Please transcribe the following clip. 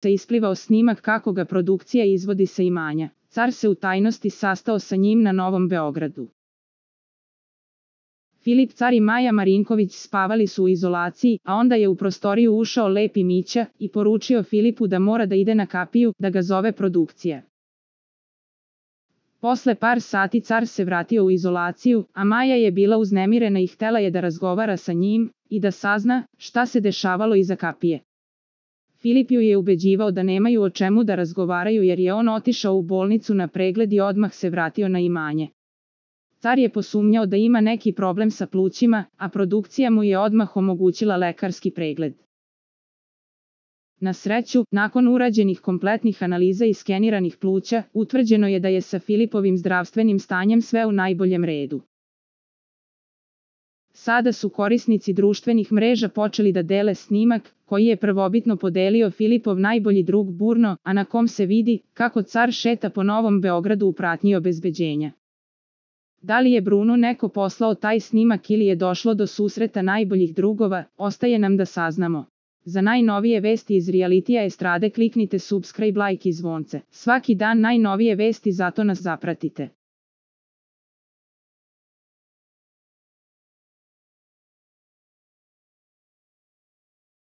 se isplivao snimak kako ga produkcija izvodi sa imanja. Car se u tajnosti sastao sa njim na Novom Beogradu. Filip car i Maja Marinković spavali su u izolaciji, a onda je u prostoriju ušao Lepi Mića i poručio Filipu da mora da ide na kapiju, da ga zove produkcija. Posle par sati car se vratio u izolaciju, a Maja je bila uznemirena i htela je da razgovara sa njim i da sazna šta se dešavalo iza kapije. Filip ju je ubeđivao da nemaju o čemu da razgovaraju jer je on otišao u bolnicu na pregled i odmah se vratio na imanje. Car je posumnjao da ima neki problem sa plućima, a produkcija mu je odmah omogućila lekarski pregled. Na sreću, nakon urađenih kompletnih analiza i skeniranih pluća, utvrđeno je da je sa Filipovim zdravstvenim stanjem sve u najboljem redu. Sada su korisnici društvenih mreža počeli da dele snimak, koji je prvobitno podelio Filipov najbolji drug Burno, a na kom se vidi kako car šeta po Novom Beogradu u pratnji obezbeđenja. Da li je Bruno neko poslao taj snimak ili je došlo do susreta najboljih drugova, ostaje nam da saznamo. Za najnovije vesti iz realitija estrade kliknite subscribe, like i zvonce. Svaki dan najnovije vesti, zato nas zapratite.